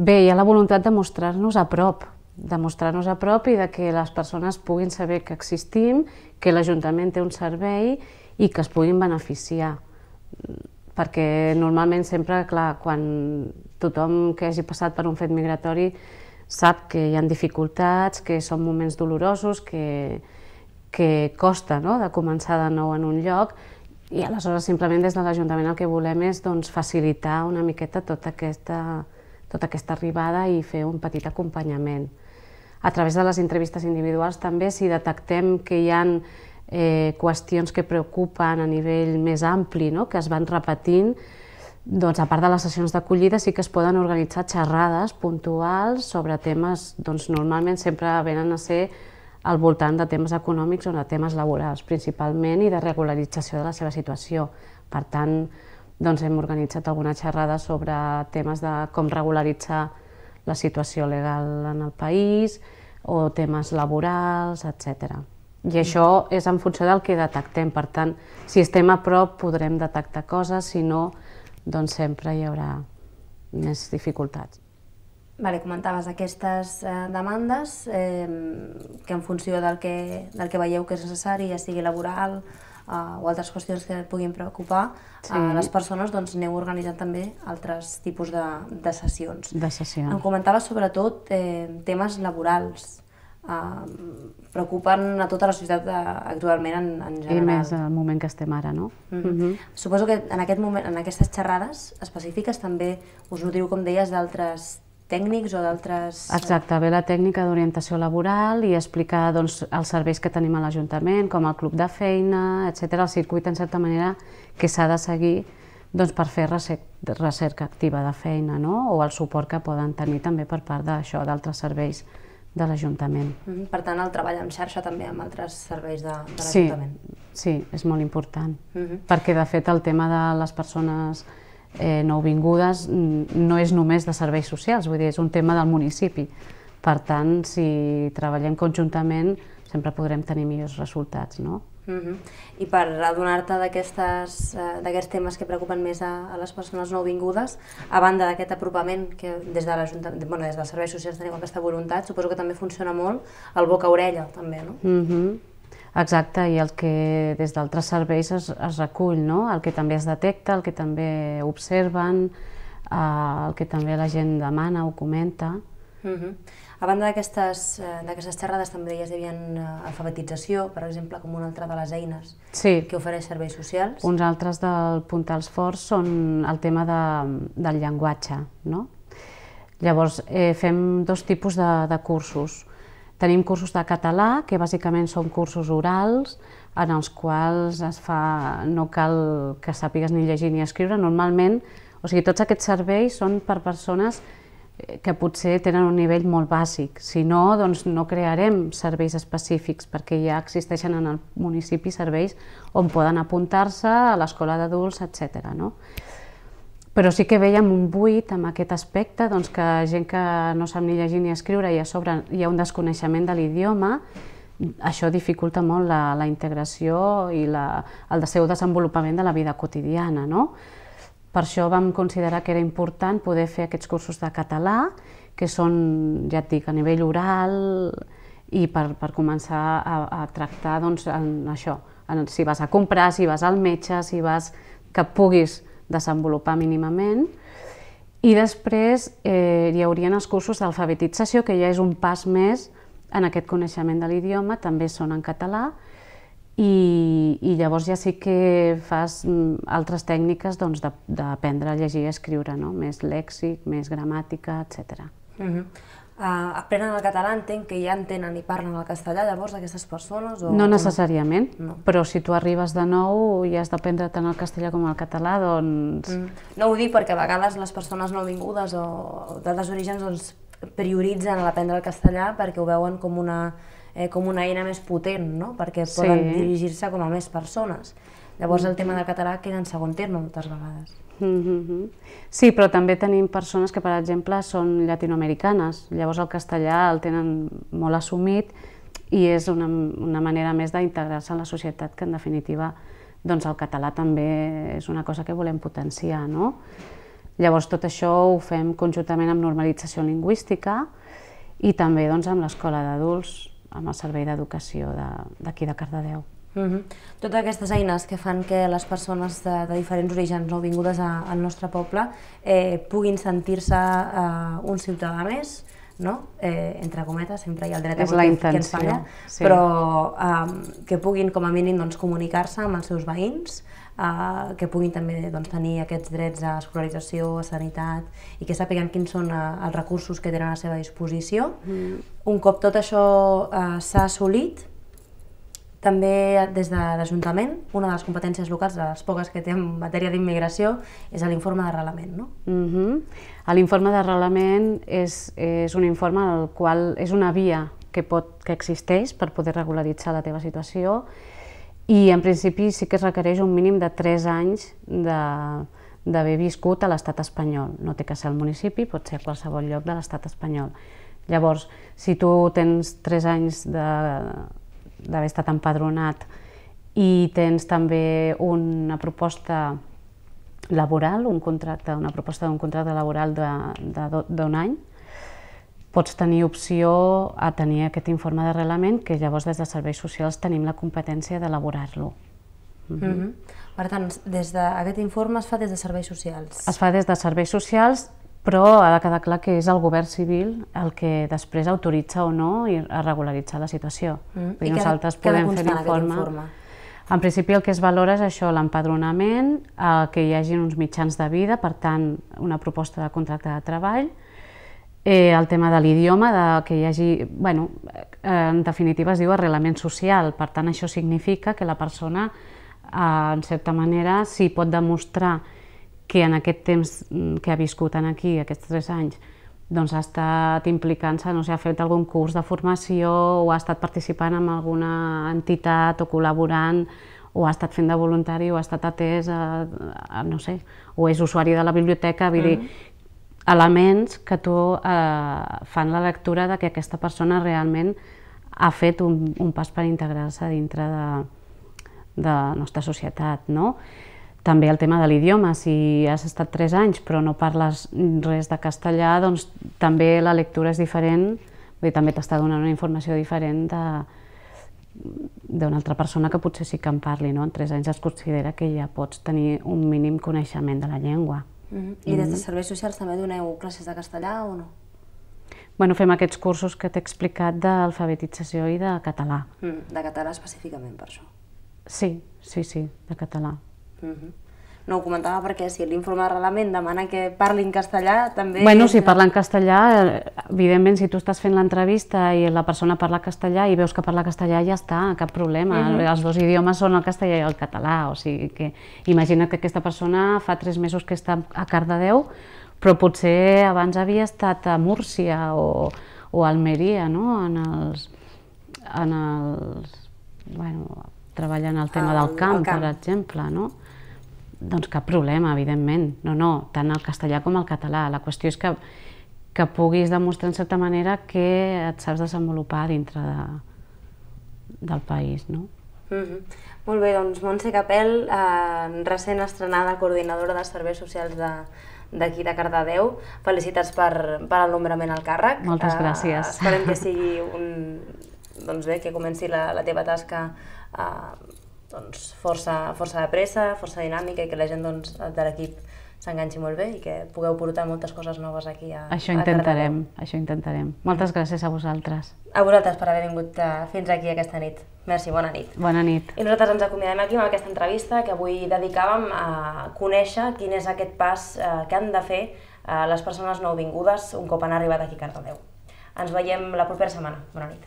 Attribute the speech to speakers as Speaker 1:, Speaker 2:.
Speaker 1: Bé, hi ha la voluntat de mostrar-nos a prop, i de que les persones puguin saber que existim, que l'Ajuntament té un servei i que es puguin beneficiar. Perquè normalment sempre, clar, quan tothom que hagi passat per un fet migratori sap que hi ha dificultats, que són moments dolorosos, que costa de començar de nou en un lloc, i aleshores simplement des de l'Ajuntament el que volem és facilitar una miqueta tota aquesta arribada i fer un petit acompanyament. A través de les entrevistes individuals també, si detectem que hi ha qüestions que preocupen a nivell més ampli, que es van repetint, doncs a part de les sessions d'acollida sí que es poden organitzar xerrades puntuals sobre temes, doncs normalment sempre venen a ser al voltant de temes econòmics o de temes laborals principalment i de regularització de la seva situació. Per tant, doncs hem organitzat alguna xerrada sobre temes de com regularitzar la situació legal en el país o temes laborals, etc. I això és en funció del que detectem. Per tant, si estem a prop podrem detectar coses, si no, doncs sempre hi haurà més dificultats.
Speaker 2: Comentaves aquestes demandes que en funció del que veieu que és necessari, ja sigui laboral o altres qüestions que puguin preocupar les persones, doncs aneu organitzant també altres tipus de sessions. Em comentaves sobretot temes laborals. Preocupen a tota la societat actualment en general.
Speaker 1: I més al moment que estem ara, no?
Speaker 2: Suposo que en aquestes xerrades específiques també us nutriu, com deies, d'altres tècnics o d'altres...
Speaker 1: Exacte, ve la tècnica d'orientació laboral i explicar els serveis que tenim a l'Ajuntament, com el club de feina, etc. El circuit, en certa manera, que s'ha de seguir per fer recerca activa de feina, o el suport que poden tenir també per part d'això, d'altres serveis de l'Ajuntament.
Speaker 2: Per tant, el treball en xarxa també amb altres serveis de l'Ajuntament.
Speaker 1: Sí, és molt important, perquè de fet el tema de les persones nouvingudes no és només de serveis socials, vull dir, és un tema del municipi. Per tant, si treballem conjuntament, sempre podrem tenir millors resultats, no?
Speaker 2: I per adonar-te d'aquests temes que preocupen més a les persones nouvingudes, a banda d'aquest apropament que des dels serveis socials teniu aquesta voluntat, suposo que també funciona molt el boca a orella, també, no?
Speaker 1: Exacte, i el que des d'altres serveis es recull, el que també es detecta, el que també observen, el que també la gent demana o comenta.
Speaker 2: A banda d'aquestes xerrades també deies que hi havia alfabetització, per exemple, com una altra de les eines que ofereix serveis socials.
Speaker 1: Uns altres dels puntals forts són el tema del llenguatge. Llavors fem dos tipus de cursos. Tenim cursos de català, que bàsicament són cursos orals, en els quals no cal que sàpigues ni llegir ni escriure. Normalment, tots aquests serveis són per persones que potser tenen un nivell molt bàsic. Si no, doncs no crearem serveis específics, perquè ja existeixen en el municipi serveis on poden apuntar-se a l'escola d'adults, etc. Però sí que veiem un buit en aquest aspecte, que gent que no sap ni llegir ni escriure i a sobre hi ha un desconeixement de l'idioma, això dificulta molt la integració i el seu desenvolupament de la vida quotidiana. Per això vam considerar que era important poder fer aquests cursos de català, que són, ja et dic, a nivell oral i per començar a tractar això, si vas a comprar, si vas al metge, que puguis desenvolupar mínimament. I després hi haurien els cursos d'alfabetització, que ja és un pas més en aquest coneixement de l'idioma, també són en català, i llavors ja sí que fas altres tècniques d'aprendre a llegir i escriure, més lèxic, més gramàtica, etc.
Speaker 2: Aprenen el català, entenc que ja entenen i parlen el castellà, llavors, aquestes persones?
Speaker 1: No necessàriament, però si tu arribes de nou i has d'aprendre tant el castellà com el català, doncs...
Speaker 2: No ho dic perquè a vegades les persones nouvingudes o d'altres orígens prioritzen l'aprendre el castellà perquè ho veuen com una eina més potent, perquè poden dirigir-se com a més persones. Llavors el tema del català queda en segon terme moltes vegades.
Speaker 1: Sí, però també tenim persones que, per exemple, són llatinoamericanes. Llavors el castellà el tenen molt assumit i és una manera més d'integrar-se en la societat, que en definitiva el català també és una cosa que volem potenciar. Llavors tot això ho fem conjuntament amb normalització lingüística i també amb l'Escola d'Adults, amb el Servei d'Educació d'aquí de Cardedeu.
Speaker 2: Totes aquestes eines que fan que les persones de diferents orígens nouvingudes al nostre poble puguin sentir-se un ciutadà més, entre cometes, sempre hi ha el dret a vot que ens falla, però que puguin com a mínim comunicar-se amb els seus veïns, que puguin també tenir aquests drets a escolarització, a sanitat i que sàpiguen quins són els recursos que tenen a la seva disposició. Un cop tot això s'ha assolit, també des de l'Ajuntament, una de les competències locals, de les poques que té en matèria d'immigració, és l'informe d'arrelament, no?
Speaker 1: L'informe d'arrelament és un informe el qual és una via que existeix per poder regularitzar la teva situació i en principi sí que es requereix un mínim de 3 anys d'haver viscut a l'estat espanyol. No té que ser al municipi, pot ser a qualsevol lloc de l'estat espanyol. Llavors, si tu tens 3 anys d'haver estat empadronat i tens també una proposta laboral, una proposta d'un contracte laboral d'un any, pots tenir opció a tenir aquest informe d'arrelament que llavors des de Serveis Socials tenim la competència d'elaborar-lo.
Speaker 2: Per tant, aquest informe es fa des de Serveis Socials?
Speaker 1: Es fa des de Serveis Socials, però ha de quedar clar que és el govern civil el que després autoritza o no a regularitzar la situació. Nosaltres podem fer l'informe. En principi el que es valora és això, l'empadronament, que hi hagi uns mitjans de vida, per tant, una proposta de contracte de treball, el tema de l'idioma, que hi hagi, en definitiva es diu arrelament social, per tant això significa que la persona, en certa manera, si pot demostrar que en aquest temps que ha viscut aquí, aquests 3 anys, doncs ha estat implicant-se, no sé, ha fet algun curs de formació o ha estat participant en alguna entitat o col·laborant o ha estat fent de voluntari o ha estat atès, no sé, o és usuari de la biblioteca, vull dir, elements que fan la lectura que aquesta persona realment ha fet un pas per integrar-se dintre de la nostra societat, no? També el tema de l'idioma, si has estat 3 anys però no parles res de castellà, doncs també la lectura és diferent, també t'està donant una informació diferent d'una altra persona que potser sí que en parli, no? En 3 anys es considera que ja pots tenir un mínim coneixement de la llengua.
Speaker 2: I des de Serveis Socials també doneu classes de castellà o no?
Speaker 1: Bueno, fem aquests cursos que t'he explicat d'alfabetització i de català.
Speaker 2: De català específicament per això?
Speaker 1: Sí, de català.
Speaker 2: No ho comentava perquè si l'informe d'arrelament demana que parli en castellà també...
Speaker 1: Bueno, si parla en castellà, evidentment si tu estàs fent l'entrevista i la persona parla castellà i veus que parla castellà ja està, cap problema. Els 2 idiomes són el castellà i el català, o sigui que imagina que aquesta persona fa 3 mesos que està a Cardedeu, però potser abans havia estat a Múrcia o a Almeria, no? Treballant el tema del camp, per exemple, no? Doncs cap problema, evidentment. No, tant el castellà com el català. La qüestió és que puguis demostrar en certa manera que et saps desenvolupar dintre del país, no?
Speaker 2: Molt bé, doncs Montse Capel, recent estrenada coordinadora de Serveis Socials d'aquí de Cardedeu. Felicitats per el nombrament al càrrec.
Speaker 1: Moltes gràcies.
Speaker 2: Esperem que sigui que comenci la teva tasca força de pressa, força dinàmica i que la gent de l'equip s'enganxi molt bé i que pugueu portar moltes coses noves aquí a Cardedeu.
Speaker 1: Això intentarem. Moltes gràcies a vosaltres.
Speaker 2: A vosaltres per haver vingut fins aquí aquesta nit. Merci, bona nit.
Speaker 1: Bona nit.
Speaker 2: I nosaltres ens acomiadem aquí amb aquesta entrevista que avui dedicàvem a conèixer quin és aquest pas que han de fer les persones nouvingudes un cop han arribat aquí a Cardedeu. Ens veiem la propera setmana. Bona nit.